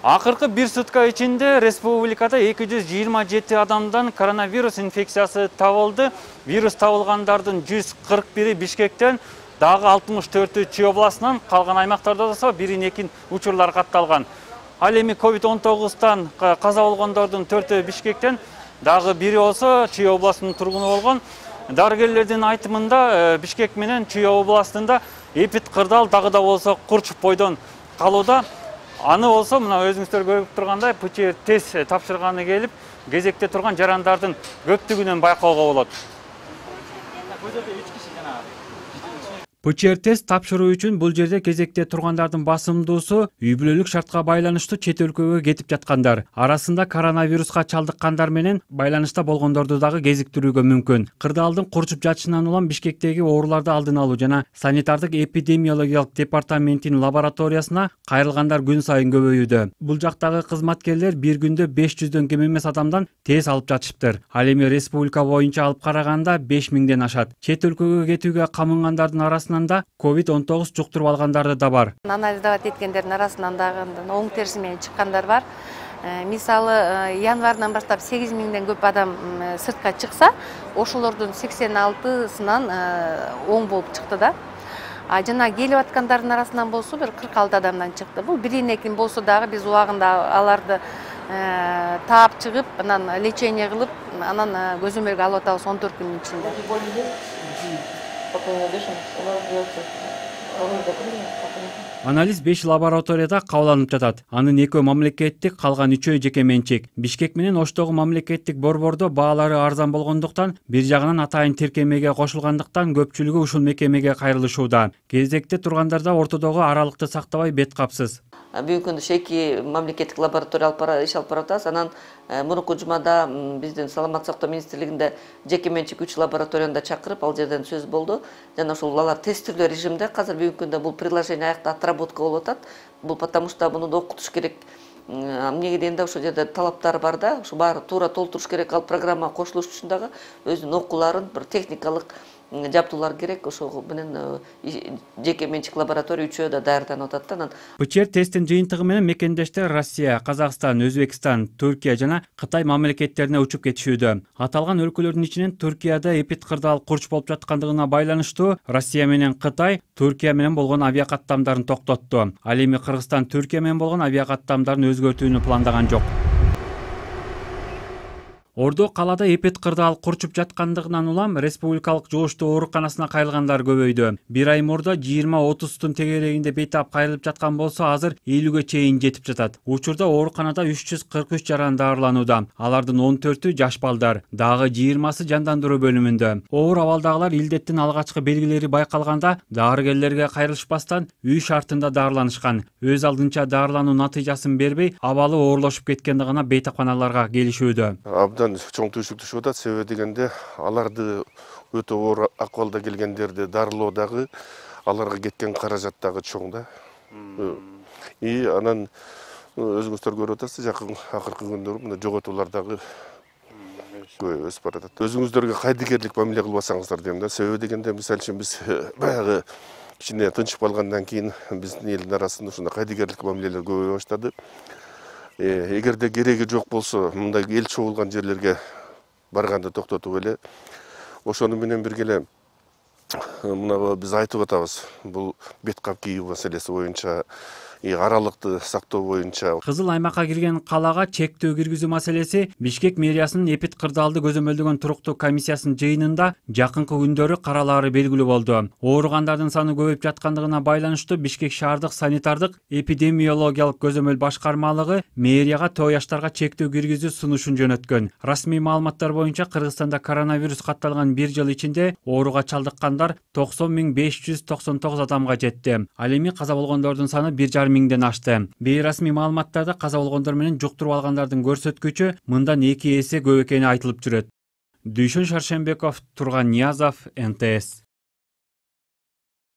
Акыркы бир сутка ичинде республикада 227 адамдан коронавирус инфекциясы табылды. Вирус табылгандардын 141-и Бишкектен, дагы 64-ü Чүй областынан, калган аймактарда болсо 1-2 учурлар катталган. Ал эми COVID-19-тан каза болгондордун 4-ü Бишкектен, дагы бири болсо Чүй областынын тургуну болгон. Дарыгерлердин айтымында Бишкек менен Чүй областында эпид кырдаал дагы да болсо курчуп бойдон калууда. Аны болсо мына өзүңүздөр көрүп тургандай ПЧР тест тапшырганы келип, кезекте турган жарандардын көптүгүнөн байкоого болот. ПЧР тест тапшыруу үчүн бул жерде кезекте тургандардын басымдуусу үй бүлөлүк шартка байланыштуу чет өлкөгө кетип жаткандар. Арасында коронавируска чалдыккандар менен байланышта болгондорду дагы кезиктирүүгө мүмкүн. Кырдаалдын курчуп жатышынан улам Бишкектеги ооруларды алдын алуу жана санитардык эпидемиологиялык департаменттин лабораториясына кайрылгандар күн сайын көбөйүүдө. Бул жактагы кызматкерлер бир күндө 500дөн кем эмес адамдан тест алып жатышыптыр. Ал эми республика боюнча алып караганда 5000ден ашат. Чет өлкөгө кетүүгө камынгандардын арасында COVID-19 жуктуруп алгандары да бар. Анализдеп эткендердин арасынан дагы оң терси менен чыккандар бар. Мисалы, январдан баштап 8000ден көп адам сыртка чыкса, ошолордун 86-сынан оң болуп чыкты да. Жана келип аткандардын арасынан болсо бир 46 адамдан чыкты. Бул 1-2 болсо дагы биз убагында аларды таап чыгып, анан лечение кылып, анан көзөмөлгө алып атабыз 14 күндүн ичинде. Анализ 5 лабораторияда кабылданып жатат. Анын 2 мамлекеттик, калган 3 жеке менчик. Бишкек менен Оштогу мамлекеттик борбордо баалары арзан болгондуктан, бир жагынан атайын тиркемеге кошулгандыктан көпчүлүгү ушул мекемеге кайрылышууда. Кезекте тургандарда ортодогу аралыкты сактабай бет капсыз. Бүгүнкү күндө 2 мамлекеттик лаборатория иш алып баратабыз. Анан мурунку жумада биздин Саламаттык сактоо министрлигинде жеке менчик 3 лабораторияны да чакырып, ал жерден сөз болду. Жана ошол алар тестирүү режимде азыр бүгүнкү күндө бул приложение аякта отработка болуп атат. Бул потому что муну да окутуш керек. Эмнеге дегенде ошол жерде талаптар бар да, ушу баары туура толтуруш керек. Ал программа кошулуш үчүн дагы өзүнүн окууларын, бир техникалык жабдуулар керек. Ошол менен жеке менчик лаборатория 3-өө да даярданып атат да. ПЧР тесттин жыйынтыгы менен мекендештер Россия, Казакстан, Өзбекстан, Түркия жана Кытай мамлекеттерине учуп кетишүүдө. Аталган өлкөлөрдүн ичинен Түркияда эпид кырдаал курч болуп жаткандыгына байланыштуу Россия менен Кытай Түркия менен болгон авиакаттамдарын токтотту. Ал эми Кыргызстан Түркия менен болгон авиакаттамдарын өзгөртүүнү пландаган жок. Ордо калада эпид кырдаал курчуп жаткандыгынан улам республикалык жугуштуу ооруканасына кайрылгандар көбөйдү. Бир ай мурда 20-30тун тегерегинде бейтап кайрылып жаткан болсо, азыр 50ге чейин жетип жатат. Учурда ооруканада 343 жаран даарыланууда. Алардын 14-ü жаш балдар, дагы 20сы жандандыруу бөлүмүндө. Оор абалдагылар илдеттин алгачкы белгилери байкалганда дарыгерлерге кайрылышпастан үй шартында даарыланышкан. Өз алдынча даарылануу натыйжасын бербей, абалы оорлошуп кеткенди гана бейтапканаларга келишүүдө. Чоң түйшүк түшүп атат. Себеби дегенде аларды өтө оор акыбалда келгендерди дарылоодагы аларга кеткен каражат дагы чоң да. Анан өзүңүздөр көрүп атасыздар, жакын акыркы күндөрү мына жоготуулар дагы көп өсүп баратат. Өзүңүздөргө кайдыгерлик мамиле кылбасаңыздар дейм да. Себеби дегенде мисалы үчүн биз баягы кичине тынчып калгандан кийин биздин элдин арасында ушундай кайдыгерлик мамилелер көбөйө баштады. Эгерде кереги жок болсо, мындай эл чогулган жерлерге барганды токтотуп эле, ошону менен бирге эле мына биз айтып атабыз. Бул бет кап кийүү маселеси боюнча, аралыкты сактоо боюнча. Кызыл аймакка кирген калаага чектөө киргизүү маселеси Бишкек мэриясынын эпид кырдаалды көзөмөлдөгөн туруктуу комиссиясынын жыйынында жакынкы күндөрү каралаары белгилүү болду. Ооругандардын саны көбөйүп жаткандыгына байланыштуу Бишкек шаардык санитардык эпидемиологиялык көзөмөл башкармалыгы мэрияга тоо жаштарга чектөө киргизүү сунушун жөнөткөн. Расмий маалыматтар боюнча Кыргызстанда коронавирус катталган бир жыл ичинде ооруга чалдыккандар 90.599 адамга жетти. Ал эми каза болгондордун саны 1,5 ашты. Бейрасмий маалыматтарда каза болгондор менен жуктуруп алгандардын көрсөткүчү мындан 2 эсе көп экени айтылып жүрөт. Дүйшөн Шаршембеков, Турган Ниязов, НТС.